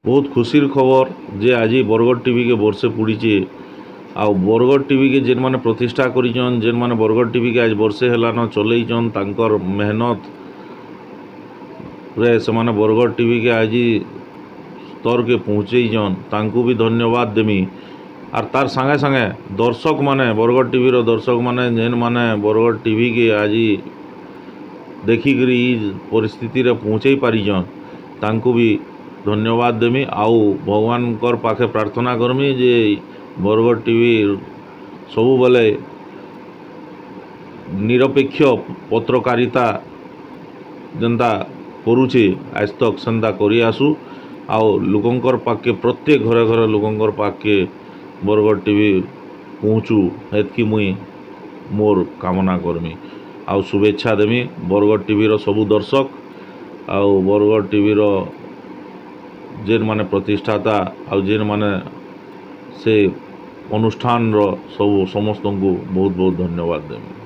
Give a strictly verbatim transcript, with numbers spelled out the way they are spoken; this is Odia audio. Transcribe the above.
ବହୁତ ଖୁସିର ଖବର ଯେ ଆଜି ବରଗଡ଼ ଟିଭିକେ ବର୍ଷେ ପୁରିଛେ। ଆଉ ବରଗଡ଼ ଟିଭିକେ ଯେନ୍ମାନେ ପ୍ରତିଷ୍ଠା କରିଛନ୍, ଯେନ୍ମାନେ ବରଗଡ଼ ଟିଭିକେ ଆଜି ବର୍ଷେ ହେଲାନ ଚଲେଇଛନ୍, ତାଙ୍କର ମେହନତ ରେ ସେମାନେ ବରଗଡ଼ ଟିଭିକେ ଆଜି ସ୍ତରକେ ପହଞ୍ଚେଇଛନ୍, ତାଙ୍କୁ ବି ଧନ୍ୟବାଦ ଦେମି। ଆର୍ ତାର୍ ସାଙ୍ଗେ ସାଙ୍ଗେ ଦର୍ଶକମାନେ, ବରଗଡ଼ ଟିଭିର ଦର୍ଶକମାନେ, ଯେନ୍ମାନେ ବରଗଡ଼ ଟିଭିକେ ଆଜି ଦେଖିକିରି ଇ ପରିସ୍ଥିତିରେ ପହଞ୍ଚେଇ ପାରିଛନ୍, ତାଙ୍କୁ ବି ଧନ୍ୟବାଦ ଦେମି। ଆଉ ଭଗବାନଙ୍କର ପାଖେ ପ୍ରାର୍ଥନା କରମି ଯେ ବରଗଡ଼ ଟିଭି ସବୁବେଲେ ନିରପେକ୍ଷ ପତ୍ରକାରିତା ଯେନ୍ତା କରୁଛେ ଆଜ୍ ତକ୍, ସେନ୍ତା କରି ଆସୁ ଆଉ ଲୋକଙ୍କର ପାଖ୍କେ, ପ୍ରତ୍ୟେକ ଘରେ ଘରେ ଲୋକଙ୍କର ପାଖ୍କେ ବରଗଡ଼ ଟିଭି ପହଞ୍ଚୁ, ହେତ୍କି ମୁଇଁ ମୋର୍ କାମନା କର୍ମି। ଆଉ ଶୁଭେଚ୍ଛା ଦେମି ବରଗଡ଼ ଟିଭିର ସବୁ ଦର୍ଶକ ଆଉ ବରଗଡ଼ ଟିଭିର ଯେନ୍ମାନେ ପ୍ରତିଷ୍ଠାତା ଆଉ ଯେନ୍ମାନେ ସେ ଅନୁଷ୍ଠାନର ସବୁ ସମସ୍ତଙ୍କୁ ବହୁତ ବହୁତ ଧନ୍ୟବାଦ ଦେମି।